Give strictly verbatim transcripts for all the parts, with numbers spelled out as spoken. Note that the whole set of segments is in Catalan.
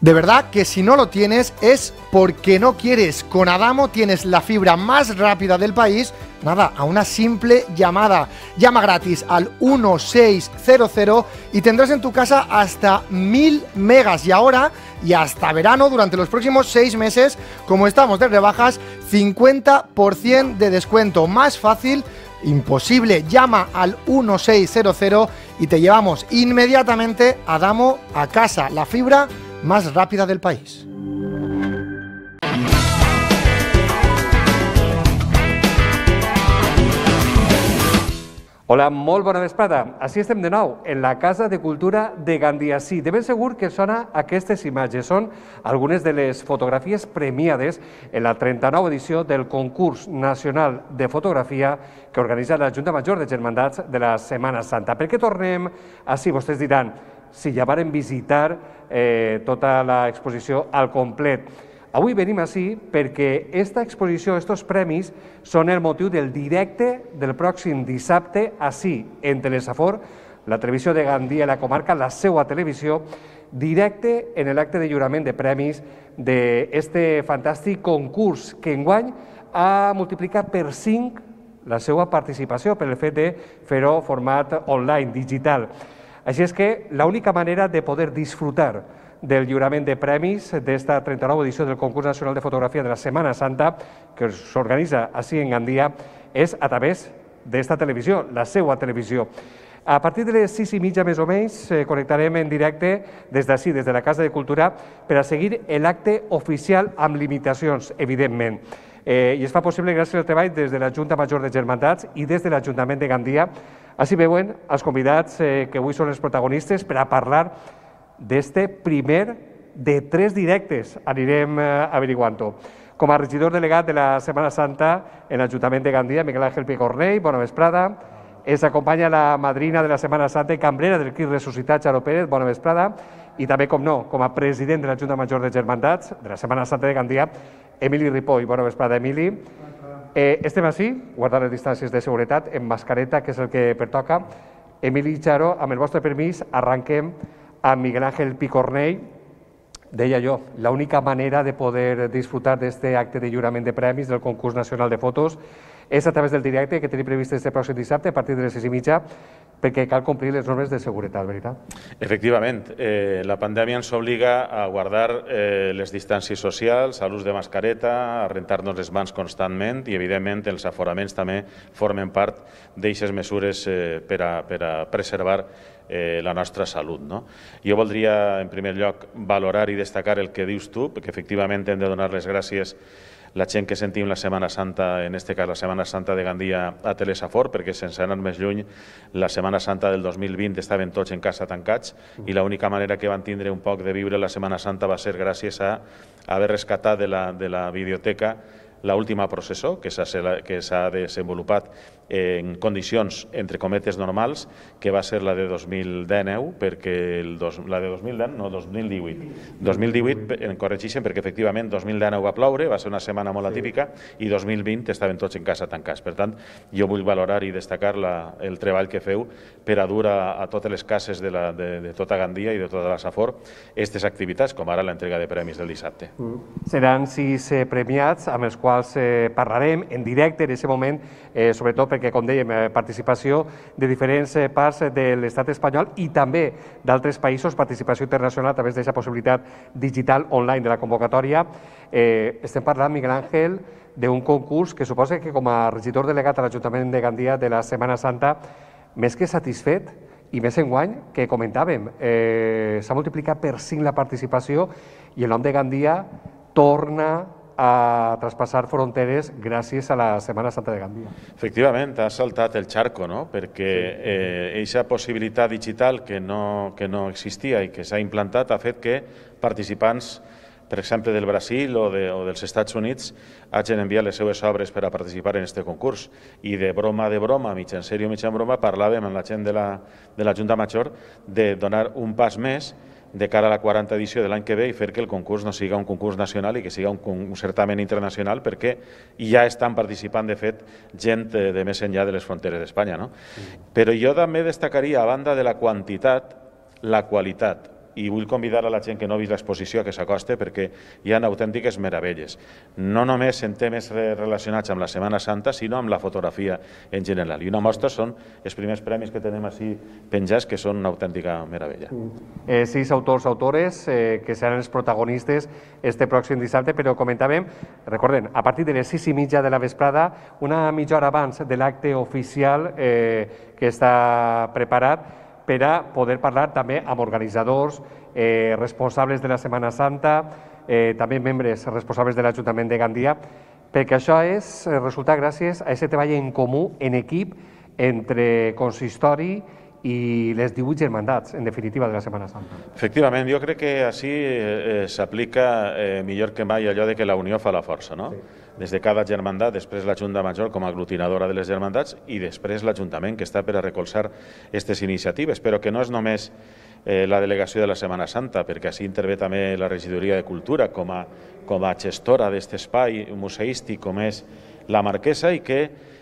De verdad que si no lo tienes es porque no quieres. Con Adamo tienes la fibra más rápida del país, nada, a una simple llamada. Llama gratis al uno seis cero cero y tendrás en tu casa hasta mil megas. Y ahora, y hasta verano, durante los próximos seis meses, como estamos de rebajas, cincuenta por ciento de descuento. Más fácil imposible. Llama al uno seis cero cero y te llevamos inmediatamente a Adamo a casa. La fibra más rápida del país. Hola, molt bona vesprada. Així estem de nou, en la Casa de Cultura de Gandia. Sí, de ben segur que sona aquestes imatges. Són algunes de les fotografies premiades en la trenta-nova edició del concurs nacional de fotografia que organitza la Junta Major de Germandats de la Setmana Santa. Per què tornem així? Vostès diran, si ja varen visitar eh, tota l'exposició al complet. Avui venim així perquè aquesta exposició, aquests premis, són el motiu del directe del pròxim dissabte, així, en Telesafor, la televisió de Gandia i la comarca, la seva televisió, directe en l'acte de lliurament de premis d'aquest fantàstic concurs que enguany ha multiplicat per cinc la seva participació per el fet de fer-ho format online, digital. Així és que l'única manera de poder disfrutar del lliurament de premis d'esta trenta-nova edició del concurs nacional de fotografia de la Setmana Santa, que s'organitza així en Gandia, és a través d'esta televisió, la seva televisió. A partir de les sis i mitja més o menys connectarem en directe des d'ací, des de la Casa de Cultura, per a seguir l'acte oficial amb limitacions, evidentment. I es fa possible gràcies al treball des de la Junta Major de Germandats i des de l'Ajuntament de Gandia. Així veuen els convidats que avui són els protagonistes per a parlar d'este primer de tres directes. Anirem averiguant-ho. Com a regidor delegat de la Setmana Santa en l'Ajuntament de Gandia, Miguel Ángel Picornell, bona vesprada. Ens acompanya la madrina de la Setmana Santa i cambrera del Crist Ressuscitat, Charo Pérez, bona vesprada. I també, com no, com a president de la Junta Major de Germandats de la Setmana Santa de Gandia, Emili Ripoll. Bona vesprada, Emili. Eh, estem així, guardant les distàncies de seguretat, en mascareta, que és el que pertoca. Emili i Charo, amb el vostre permís, arranquem amb Miguel Ángel Picornell. Deia jo, l'única manera de poder disfrutar d'aquest acte de lliurament de premis del concurs nacional de fotos és a través del directe que tenim previst este pròxim dissabte a partir de les sis i mitja, perquè cal complir les normes de seguretat, veritat? Efectivament, eh, la pandèmia ens obliga a guardar eh, les distàncies socials, a l'ús de mascareta, a rentar-nos les mans constantment i, evidentment, els aforaments també formen part d'aquestes mesures eh, per, a, per a preservar eh, la nostra salut. No? Jo voldria, en primer lloc, valorar i destacar el que dius tu, perquè efectivament hem de donar les gràcies la gent que sentim la Setmana Santa, en aquest cas la Setmana Santa de Gandia a Telesafor, perquè sense anar més lluny, la Setmana Santa del dos mil vint estaven tots en casa tancats i l'única manera que van tindre un poc de viure la Setmana Santa va ser gràcies a haver rescatat de la, de la videoteca l'última processó que s'ha desenvolupat en condicions, entre cometes, normals, que va ser la de dos mil dinou, perquè el dos, la de dos mil deu, no, dos mil divuit. dos mil divuit, en corregeixen, perquè efectivament dos mil dinou va ploure, va ser una setmana molt atípica, i dos mil vint estaven tots en casa tancats. Per tant, jo vull valorar i destacar la, el treball que feu per a dur a, a totes les cases de, la, de, de tota Gandia i de tota la Safor aquestes activitats, com ara l'entrega de premis del dissabte. Mm. Seran sis eh, premiats amb els quals eh, parlarem en directe en aquest moment, eh, sobretot perquè, com dèiem, eh, participació de diferents eh, parts de l'estat espanyol i també d'altres països, participació internacional a través d'aquesta possibilitat digital online de la convocatòria. Eh, estem parlant, Miguel Ángel, d'un concurs que suposa que com a regidor delegat a l'Ajuntament de Gandia de la Setmana Santa, més que satisfet, i més enguany, que comentàvem, eh, s'ha multiplicat per cinc la participació i el nom de Gandia torna a traspassar fronteres gràcies a la Setmana Santa de Gandia. Efectivament, ha saltat el charco, no? Perquè aquesta eh, possibilitat digital que no, que no existia i que s'ha implantat ha fet que participants, per exemple, del Brasil o, de, o dels Estats Units, hagin enviat les seues obres per a participar en aquest concurs. I de broma de broma, mig en sèrio, mig en broma, parlàvem amb la gent de la, de la Junta Major de donar un pas més de cara a la quaranta edició de l'any que ve i fer que el concurs no siga un concurs nacional i que siga un, un certamen internacional, perquè ja estan participant, de fet, gent de, de més enllà de les fronteres d'Espanya. No? Mm. Però jo també destacaria, a banda de la quantitat, la qualitat. i vull convidar a la gent que no ha vist l'exposició que s'acoste perquè hi ha autèntiques meravelles, no només en temes relacionats amb la Setmana Santa, sinó amb la fotografia en general. I una mostra són els primers premis que tenim així penjats, que són una autèntica meravella. Eh, sis autors, autores, eh, que seran els protagonistes este pròxim dissabte, però comentàvem, recorden, a partir de les sis i mitja de la vesprada, una mitja hora abans de l'acte oficial eh, que està preparat, per a poder parlar també amb organitzadors, eh, responsables de la Setmana Santa, eh, també membres responsables de l'Ajuntament de Gandia, perquè això és resultat gràcies a aquest treball en comú, en equip, entre consistori i les divuit germandats, en definitiva, de la Setmana Santa. Efectivament, jo crec que així eh, s'aplica eh, millor que mai allò de que la unió fa la força, no? Sí. Des de cada germandat, després la Junta Major com a aglutinadora de les germandats i després l'Ajuntament, que està per a recolzar aquestes iniciatives, però que no és només eh, la delegació de la Setmana Santa, perquè així intervé també la Regidoria de Cultura com a, com a gestora d'aquest espai museístic com és la Marquesa i que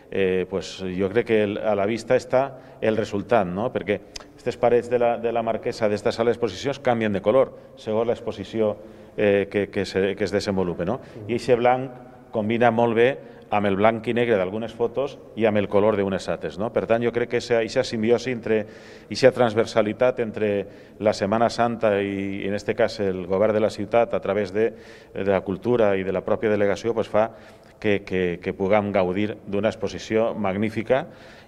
eh, pues, jo crec que a la vista està el resultat, no? Perquè aquestes parets de la, de la Marquesa d'esta sala d'exposicions canvien de color segons l'exposició eh, que, que, se, que es desenvolupa, no? I aquest blanc combina molt bé amb el blanc i negre d'algunes fotos i amb el color d'unes altres, no? Per tant, jo crec que aquesta simbiosi, entre aquesta transversalitat entre la Setmana Santa i, en aquest cas, el govern de la ciutat a través de, de la cultura i de la pròpia delegació, pues, fa que, que, que puguem gaudir d'una exposició magnífica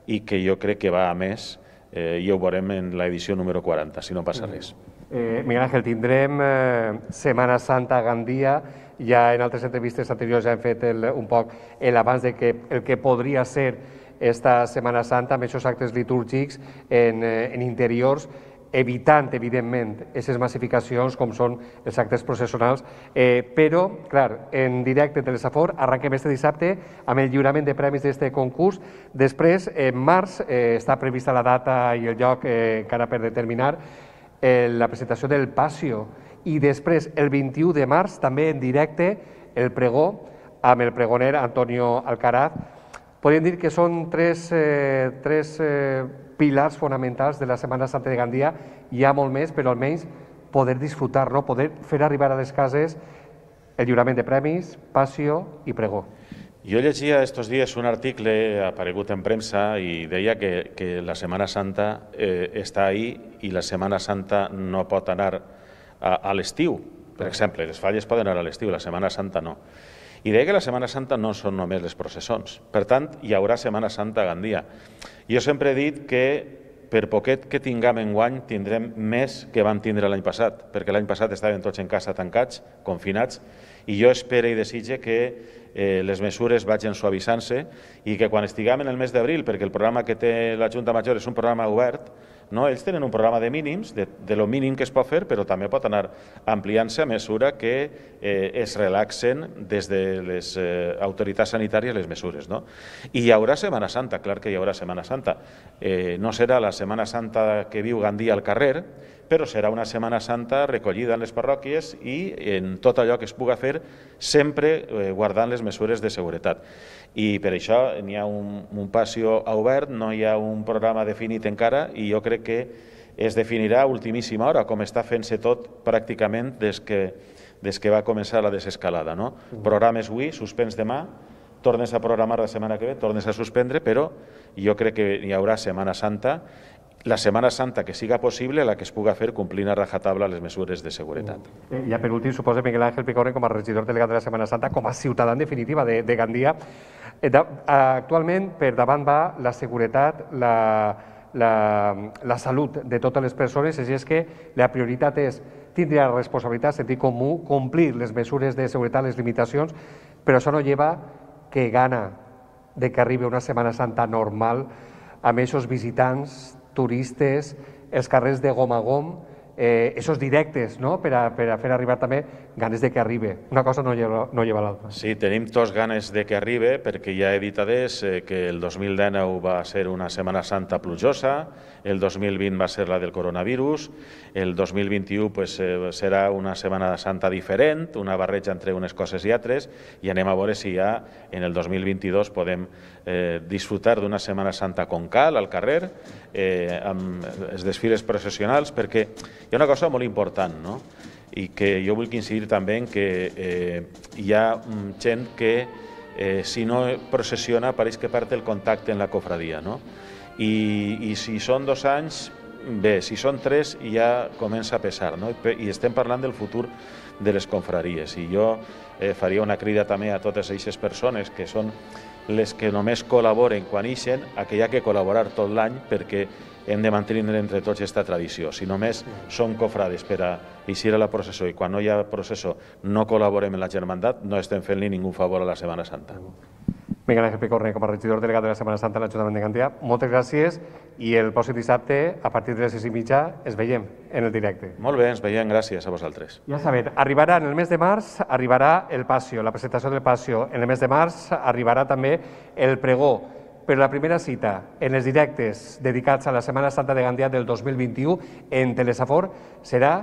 i que jo crec que va a més, eh, i ho veurem en l'edició número quaranta, si no passa res. Eh, Miguel Ángel, tindrem eh, Setmana Santa a Gandia. Ja en altres entrevistes anteriors ja hem fet el, un poc l'abans de que el que podria ser esta Setmana Santa amb aquests actes litúrgics en, en interiors, evitant, evidentment, aquestes massificacions com són els actes processionals, eh, però, clar, en directe de l'Esafor arranquem este dissabte amb el lliurament de premis d'aquest concurs. Després, en març, eh, està prevista la data i el lloc eh, encara per determinar, eh, la presentació del Pasio, i després, el vint-i-u de març, també en directe, el pregó amb el pregoner Antonio Alcaraz. Podríem dir que són tres, eh, tres eh, pilars fonamentals de la Setmana Santa de Gandia. Hi ha molt més, però almenys poder disfrutar, no? Poder fer arribar a les cases el lliurament de premis, Pasio i pregó. Jo llegia estos dies un article aparegut en premsa i deia que, que la Setmana Santa eh, està ahí i la Setmana Santa no pot anar a, a l'estiu. Per exemple, les falles poden anar a l'estiu, la Setmana Santa no. I deia que la Setmana Santa no són només les processons. Per tant, hi haurà Setmana Santa a Gandia. Jo sempre he dit que per poquet que tinguem enguany tindrem més que vam tindre l'any passat, perquè l'any passat estaven tots en casa tancats, confinats, i jo espero i desitge que eh, les mesures vagin suavitzant-se i que quan estiguem en el mes d'abril, perquè el programa que té la Junta Major és un programa obert, no? Ells tenen un programa de mínims, de, de lo mínim que es pot fer, però també pot anar ampliant-se a mesura que eh, es relaxen des de les eh, autoritats sanitàries les mesures, no? I hi haurà Setmana Santa, clar que hi haurà Setmana Santa. Eh, no serà la Setmana Santa que viu Gandia al carrer, però serà una Setmana Santa recollida en les parròquies i en tot allò que es puga fer, sempre eh, guardant les mesures de seguretat. I per això n'hi ha un, un passió obert, no hi ha un programa definit encara i jo crec que es definirà a ultimíssima hora, com està fent-se tot pràcticament des que, des que va començar la desescalada, no? Programes avui, suspens demà, tornes a programar la setmana que ve, tornes a suspendre, però jo crec que hi haurà Setmana Santa, la Setmana Santa que siga possible, la que es puga fer complint a rajatabla les mesures de seguretat. Eh, ja per últim, suposa Miguel Ángel Picorren com a regidor delegat de la Setmana Santa, com a ciutadà en definitiva de, de Gandia. Eh, da, actualment, per davant va la seguretat, la, la, la salut de totes les persones, així és que la prioritat és tindre la responsabilitat, sentit comú, complir les mesures de seguretat, les limitacions, però això no lleva que gana de que arribi una Setmana Santa normal amb aquests visitants, turistes, els carrers de gom a gom, eh, esos directes, no? per, a, per a fer arribar també ganes de que arribi. Una cosa no lleva, no lleva l'altra. Sí, tenim tots ganes de que arribi, perquè ja he dit adés eh, que el dos mil dinou va ser una Setmana Santa plujosa, el dos mil vint va ser la del coronavirus, el dos mil vint-i-u pues, eh, serà una Setmana Santa diferent, una barreja entre unes coses i altres, i anem a veure si ja en el dos mil vint-i-dos podem eh, disfrutar d'una Setmana Santa con cal al carrer, eh, amb els desfiles processionals, perquè Hi ha una cosa molt important, no? I que jo vull incidir també en que eh, hi ha gent que eh, si no processiona pareix que perd el contacte en la cofradia, no? I, i si són dos anys, bé, si són tres ja comença a pesar, no? I estem parlant del futur de les confraries, i jo eh, faria una crida també a totes aquestes persones que són les que només col·laboren quan ixen, a que hi ha que col·laborar tot l'any perquè hem de mantenir entre tots aquesta tradició. Si només som cofrades per a eixir a la processó i quan no hi ha processó no col·laborem en la germandat, no estem fent-li ningú favor a la Setmana Santa. Miguel Ángel Picorne, com a regidor delegat de la Setmana Santa a l'Ajuntament de Gandia, moltes gràcies i el pròxim dissabte, a partir de les sis i mitja, es veiem en el directe. Molt bé, ens veiem, gràcies a vosaltres. Ja sabem, arribarà en el mes de març, arribarà el Passió, la presentació del Passió. En el mes de març arribarà també el pregó. Però la primera cita en els directes dedicats a la Setmana Santa de Gandia del dos mil vint-i-u en Telesafor serà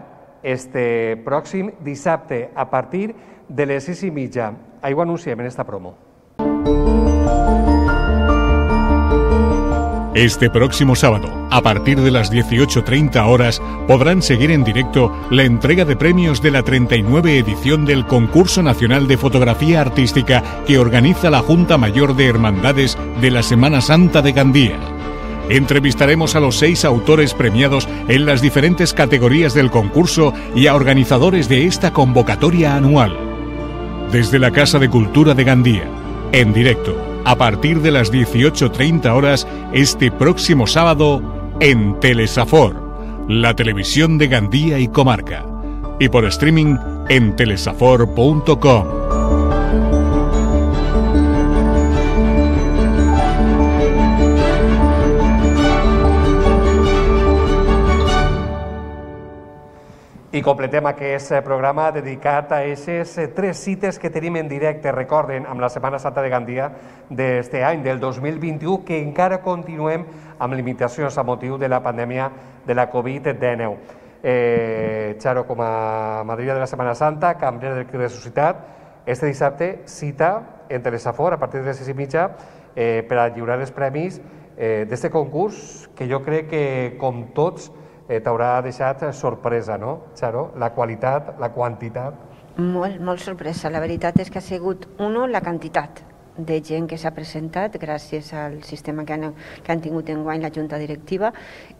este pròxim dissabte a partir de les sis i mitja. Ahí ho anunciem en esta promo. Este próximo sábado, a partir de las dieciocho treinta horas, podrán seguir en directo la entrega de premios de la treinta y nueve edición del Concurso Nacional de Fotografía Artística que organiza la Junta Mayor de Hermandades de la Semana Santa de Gandía. Entrevistaremos a los seis autores premiados en las diferentes categorías del concurso y a organizadores de esta convocatoria anual. Desde la Casa de Cultura de Gandía, en directo, a partir de las dieciocho treinta horas, este próximo sábado, en Telesafor, la televisión de Gandía y Comarca, y por streaming en telesafor punto com. I completem aquest programa dedicat a aquestes tres cites que tenim en directe, recorden, amb la Setmana Santa de Gandia d'aquest any, del dos mil vint-i-u, que encara continuem amb limitacions a motiu de la pandèmia de la covid dinou. Eh, Charo, com a madrina de la Setmana Santa, cambrer del Crit Ressuscitat, este dissabte cita en Telesafor a partir de les sis i mitja eh, per a lliurar els premis eh, d'aquest concurs que jo crec que, com tots, Eh, t'haurà deixat sorpresa, no, Charo? La qualitat, la quantitat... Molt, molt sorpresa. La veritat és que ha sigut, uno, la quantitat de gent que s'ha presentat gràcies al sistema que han, que han tingut enguany la Junta Directiva,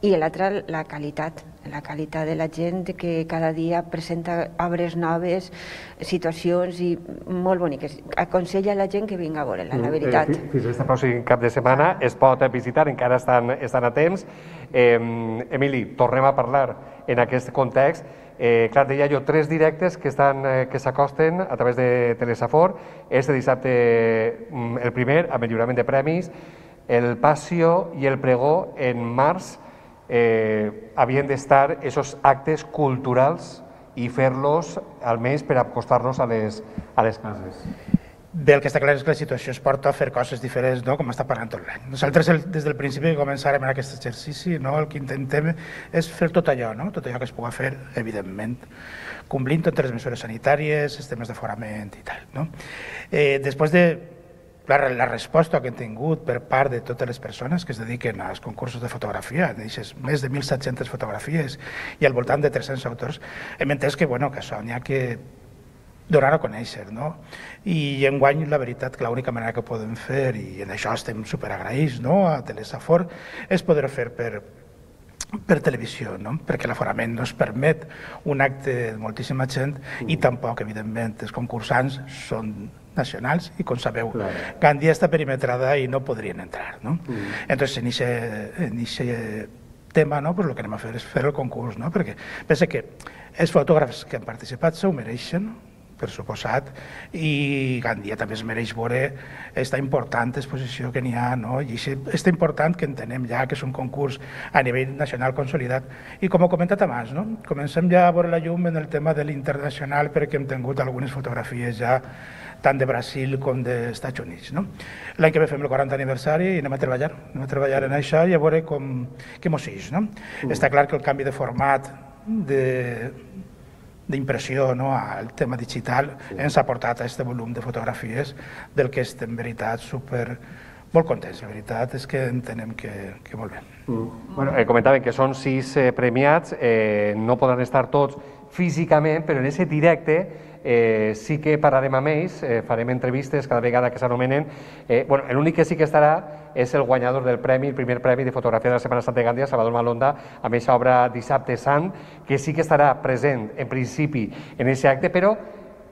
i l'altre, la qualitat, la qualitat de la gent que cada dia presenta obres noves, situacions i molt boniques. Aconsella a la gent que vinga a veure-la, la veritat. Eh, fins aquest pròxim cap de setmana es pot visitar, encara estan, estan a temps. Eh, Emili, tornem a parlar en aquest context. Eh, clar, deia jo, tres directes que estan eh, que s'acosten a través de Telesafor. Este dissabte el primer, amb el lliurament de premis, el Passió i el pregó en març eh, havien d'estar aquests actes culturals i fer-los almenys per acostar-nos a les, a les cases. Bé, el que està clar és que la situació es porta a fer coses diferents, no?, com està parlant tot l'any. Nosaltres, el, des del principi que començarem en aquest exercici, no?, el que intentem és fer tot allò, no?, tot allò que es pugui fer, evidentment, complint totes les mesures sanitàries, els temes d'aforament i tal, no? Eh, després de la, la resposta que hem tingut per part de totes les persones que es dediquen als concursos de fotografia, deixes més de mil set-centes fotografies i al voltant de tres-cents autors, hem entès que, bueno, que això n'hi ha que donar a conèixer, no? I enguany la veritat que l'única manera que podem fer, i en això estem superagraïts, no?, a Telesafor, és poder fer per, per televisió, no?, perquè l'aforament no es permet un acte de moltíssima gent i tampoc, evidentment, els concursants són nacionals i, com sabeu, claro, Gandia està perimetrada i no podrien entrar, no? Mm. Entonces, en aquest tema, no?, pues, el que anem a fer és fer el concurs, no?, perquè pensa que els fotògrafs que han participat s'ho mereixen, per suposat, i Gandia també es mereix veure aquesta important exposició que n'hi ha, no? I és important que entenem ja que és un concurs a nivell nacional consolidat. I com he comentat abans, no?, comencem ja a veure la llum en el tema de l'internacional perquè hem tingut algunes fotografies ja tant de Brasil com dels Estats Units, no? L'any que ve fem el quaranta aniversari i anem a treballar, anem a treballar en això i a veure com, què mos ix, no? Mm. Està clar que el canvi de format de d'impressió, no?, al tema digital ens ha portat a aquest volum de fotografies del que és en veritat super molt contents, la veritat és que entenem que, que molt bé. Mm. Bueno, eh, comentaven que són sis eh, premiats, eh, no poden estar tots físicament, però en aquest directe eh, sí que parlarem amb ells, eh, farem entrevistes cada vegada que s'anomenen. Eh, bueno, l'únic que sí que estarà és el guanyador del premi, el primer premi de fotografia de la Setmana Santa de Gàndia, Salvador Malonda, amb aquesta obra Dissabte Sant, que sí que estarà present en principi en aquest acte, però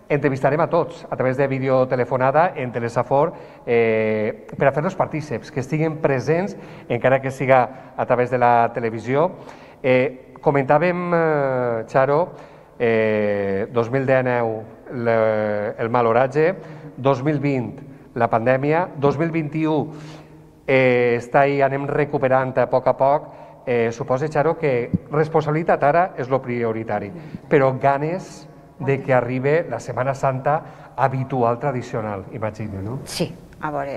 entrevistarem a tots a través de videotelefonada en Telesafor eh, per a fer-los partíceps, que estiguin presents, encara que siga a través de la televisió. Eh, comentàvem, eh, Charo, eh, dos mil dinou le, el mal oratge, dos mil vint la pandèmia, dos mil vint-i-u eh, està ahí, anem recuperant a poc a poc. Eh, suposa, Charo, que responsabilitat ara és lo prioritari, però ganes de que arribi la Setmana Santa habitual, tradicional, imagino, no? Sí, a veure,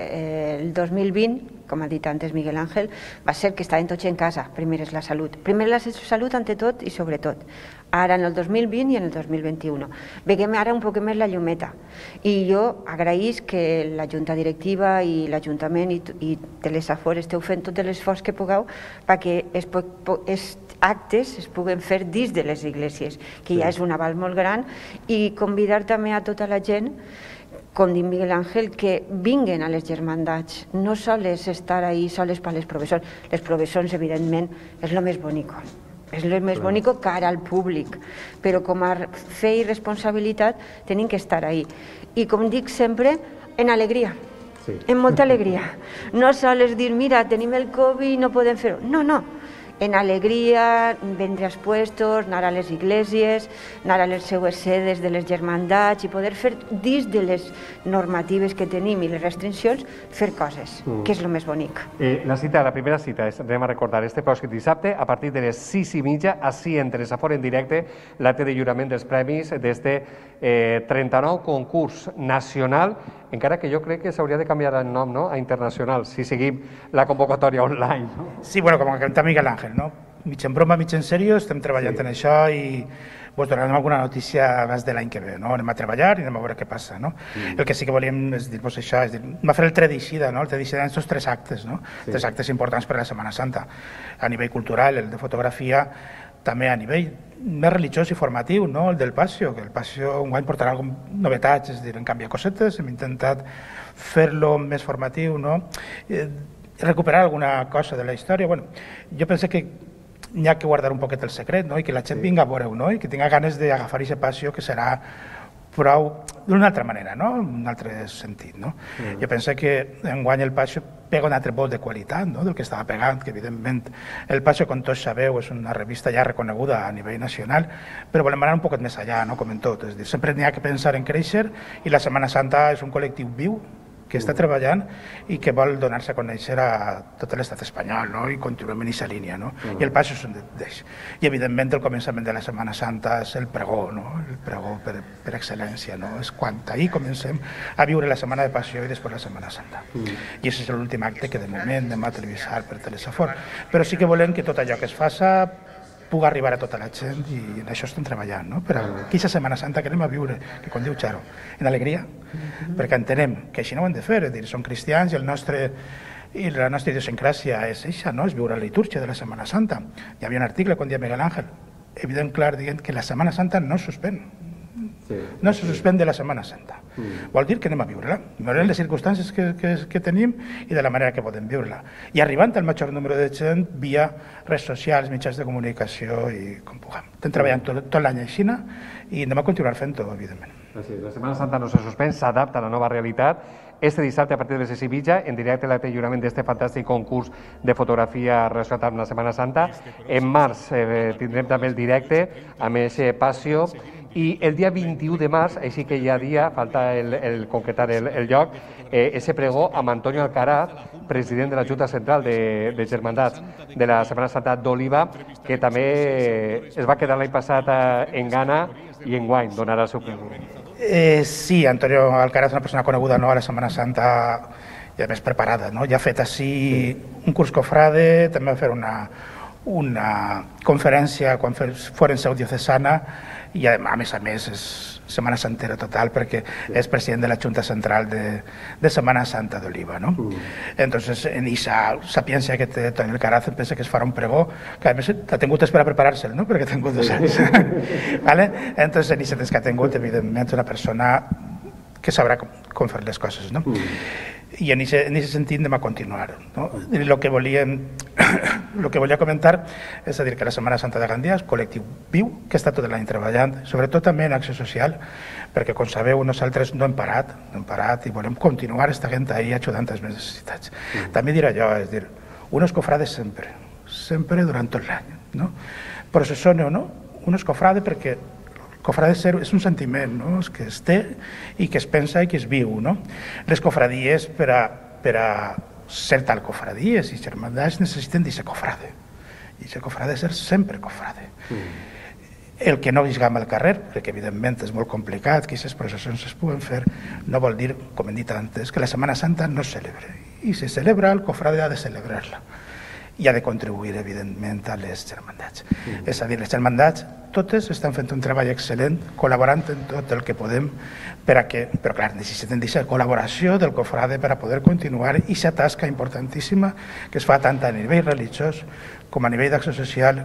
el dos mil vint, com ha dit antes Miguel Ángel, va ser que estaven tots en casa. Primer és la salut. Primer la salut ante tot i sobretot. Ara en el dos mil vint i en el dos mil vint-i-u. Veiem ara un poc més la llumeta. I jo agraïs que la Junta Directiva i l'Ajuntament i, i Telesafor esteu fent tot l'esforç que pugueu perquè es, es actes es puguen fer dins de les iglesias, que sí. Ja és un aval molt gran, i convidar també a tota la gent, com diu Miguel Ángel, que vinguen a les germandats, no sols estar ahí soles per les professors. Les professors, evidentment, és el més bonic. És el més bonic cara al públic, però com a fe i responsabilitat tenim que estar ahí. I com dic sempre, en alegria, sí. En molta alegria. No sols dir, mira, tenim el Covid i no podem fer-ho. No, no. En alegria, vendre als puestos, anar a les iglesias, anar a les seues sedes de les germandats i poder fer, dins de les normatives que tenim i les restriccions, fer coses, mm. que és el més bonic. Eh, la cita, la primera cita, és, anem a recordar, este pròxim dissabte, a partir de les sis i mitja, així en Telesafor en directe, l'acte de lliurament dels premis d'este eh, trenta-nou concurs nacional, encara que jo crec que s'hauria de canviar el nom, no?, a internacional, si seguim la convocatòria online. No? Sí, bueno, com canta Miguel Ángel, no? Mig en broma, mig en sèrio, estem treballant sí. en això i vos donarem alguna notícia abans de l'any que ve, no? Anem a treballar i anem a veure què passa, no? Mm. El que sí que volíem és dir-vos això, és dir, va fer el Tredicida, no? El Tredicida en aquests tres actes, no? Sí. Tres actes importants per a la Setmana Santa, a nivell cultural, el de fotografia, també a nivell més religiós i formatiu, no? El del Passió, que el Passió enguany portarà algunes novetats, és a dir, en canviar cosetes, hem intentat fer-lo més formatiu, no? Eh, recuperar alguna cosa de la història. Bueno, jo penso que n'hi ha que guardar un poquet el secret, no? I que la gent vinga a veure-ho, no? I que tinga ganes d'agafar aquest Passió, que serà prou d'una altra manera, no? Un altre sentit, no? Mm. Jo penso que enguany el Passió pega un altre volt de qualitat, no?, del que estava pegant, que evidentment el Passió, com tots sabeu, és una revista ja reconeguda a nivell nacional, però volem anar un poquet més allà, no?, com en tot. És dir, sempre n'hi ha que pensar en créixer i la Setmana Santa és un col·lectiu viu que està treballant i que vol donar-se a conèixer a tot l'estat espanyol, no? I continuem en aquesta línia, no? Mm. I el Passió és un d'ells. I evidentment el començament de la Setmana Santa és el pregó, no? El pregó per, per excel·lència, no? És quan ahir comencem a viure la Setmana de Passió i després la Setmana Santa. Mm. I aquest és l'últim acte que de moment anem a televisar per Telesafor. Però sí que volem que tot allò que es faça pugui arribar a tota la gent i en això estem treballant, no? Per a aquesta Setmana Santa que anem a viure, que com diu Charo, en alegria, mm-hmm. perquè entenem que així no ho hem de fer, és dir, som cristians i el nostre i la nostra idiosincràsia és això, no? És viure la litúrgia de la Setmana Santa. Hi havia un article, com deia Miguel Ángel, evident clar, dient que la Setmana Santa no es suspèn. Sí, no se suspèn de la Setmana Santa. Mm. Vol dir que anem a viure-la, veurem les circumstàncies que, que, que tenim i de la manera que podem viure-la. I arribant al major número de gent via redes socials, mitjans de comunicació i com puguem. Estem treballant tot, tot l'any així i anem a continuar fent-ho, evidentment. Així, la Setmana Santa no se suspèn, s'adapta a la nova realitat. Este dissabte, a partir de les sis i mitja, en directe l'acte de lliurament d'este fantàstic concurs de fotografia relacionat amb la Setmana Santa. En març eh, tindrem també el directe amb aquest Passió. I el dia vint-i-u de març, així que hi ha dia, falta el, el concretar el, el lloc, eh, ese pregó amb Antonio Alcaraz, president de la Junta Central de, de Germandats de la Setmana Santa d'Oliva, que també es va quedar l'any passat en Ghana i enguany donarà el seu pregó. Eh, sí, Antonio Alcaraz és una persona coneguda, no?, a la Setmana Santa i a més preparada, no? Ja ha fet així un curs cofrade, també va fer una una conferència quan fos en seu diocesana i a més a més és Setmana Santera total perquè és president de la Junta Central de, de Setmana Santa d'Oliva, ¿no? Mm. Entonces en esa sapiencia que té Toni Alcaraz pensa que es farà un pregó que a més ha tingut per a preparar-se'l, no? Perquè ha tingut dos anys. ¿Vale? Entonces en aquest que ha tingut evidentment una persona que sabrà com, com fer les coses, no? Mm. I en aquest sentit anem a continuar. No? El que volíem, el que volia comentar és a dir que la Setmana Santa de Gandia és col·lectiu viu que està tot l'any treballant, sobretot també en acció social, perquè com sabeu nosaltres no hem parat, no hem parat i volem continuar estant ahí ajudant les necessitats. Mm. També dir allò, és dir, unos cofrades sempre, sempre durant tot l'any. No? Processone o no, unos cofrades perquè cofrade és un sentiment, no? Que es té i que es pensa i que es viu. No? Les cofradies, per a, per a ser tal cofradies i germandats, necessiten d'aquest cofrade. I aquest cofrade és ser sempre cofrade. Mm. El que no visgam al carrer, perquè evidentment és molt complicat que aquestes processions es puguen fer, no vol dir, com hem dit antes, que la Setmana Santa no es celebra. I si se celebra, el cofrade ha de celebrar-la. I ha de contribuir, evidentment, a les germandats. Mm. És a dir, les germandats totes estan fent un treball excel·lent, col·laborant en tot el que podem, per a que, però clar, necessiten aquesta col·laboració del cofrade per a poder continuar aquesta tasca importantíssima que es fa tant a nivell religiós com a nivell d'acció social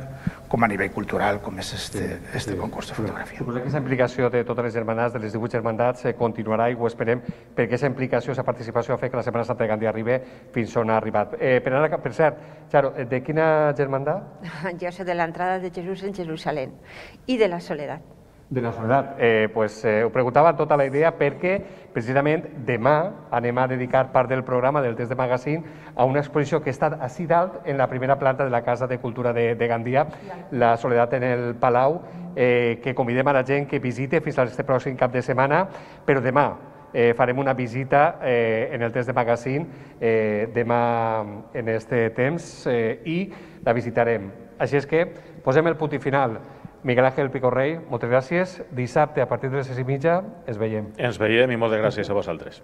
com a nivell cultural, com és este, sí, este sí. concurs de fotografia. Suposo que aquesta implicació de totes les germandats, de les divuit germandats, eh, continuarà i ho esperem, perquè aquesta implicació, aquesta participació ha fet que la Setmana Santa de Gandia arribi fins on ha arribat. Eh, per, ara, per cert, Charo, de quina germandat? Jo soc de l'entrada de Jesús en Jerusalem i de la Soledat. De la Soledat. Eh, pues, eh, ho preguntava tota la idea perquè precisament demà anem a dedicar part del programa del Test de Magazine a una exposició que està així dalt en la primera planta de la Casa de Cultura de, de Gandia, la Soledat en el Palau, eh, que convidem a la gent que visite fins a este pròxim cap de setmana, però demà eh, farem una visita eh, en el Test de Magazine eh, demà en este temps eh, i la visitarem. Així és que posem el punt i final. Miguel Ángel Picorrell, moltes gràcies. Dissabte, a partir de les sis i mitja, ens veiem. Ens veiem i moltes gràcies a vosaltres.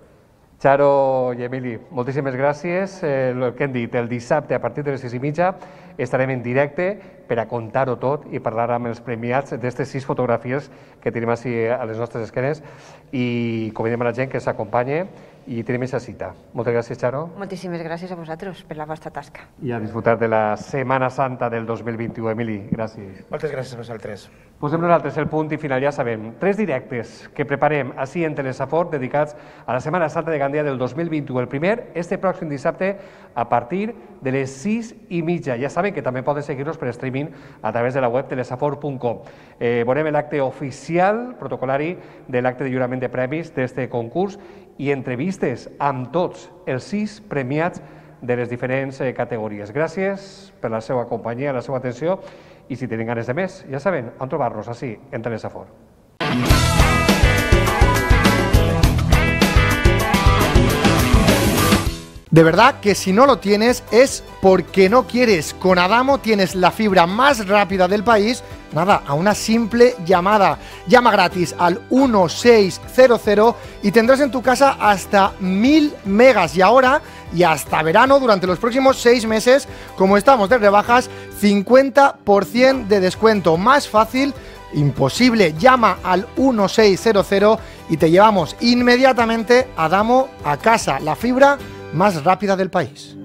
Charo i Emili, moltíssimes gràcies. Eh, el que hem dit, el dissabte, a partir de les sis i mitja, estarem en directe per a contar-ho tot i parlar amb els premiats d'aquestes sis fotografies que tenim així a les nostres esquenes i convidem a la gent que s'acompanye i tenim aquesta cita. Moltes gràcies, Charo. Moltíssimes gràcies a vosaltres per la vostra tasca. I a disfrutar de la Setmana Santa del dos mil vint-i-u. Emili, gràcies. Moltes gràcies a vosaltres. Posem nosaltres el punt i final, ja sabem. Tres directes que preparem així en Telesafor dedicats a la Setmana Santa de Gandia del dos mil vint-i-u. El primer, este pròxim dissabte, a partir de les sis i mitja. Ja saben que també poden seguir-nos per streaming a través de la web telesafor punt com. Eh, veurem l'acte oficial, protocolari, de l'acte de lliurament de premis d'este concurs i entrevistes amb tots els sis premiats de les diferents eh, categories. Gràcies per la seva companyia, la seva atenció, i si tenen ganes de més, ja saben on trobar-nos, així, en Telesafor. De verdad que si no lo tienes es porque no quieres. Con Adamo tienes la fibra más rápida del país, nada, a una simple llamada. Llama gratis al uno seis cero cero y tendrás en tu casa hasta mil megas. Y ahora, y hasta verano, durante los próximos seis meses, como estamos de rebajas, cincuenta por ciento de descuento. Más fácil, imposible. Llama al uno seis cero cero y te llevamos inmediatamente Adamo a casa. La fibra más rápida del país.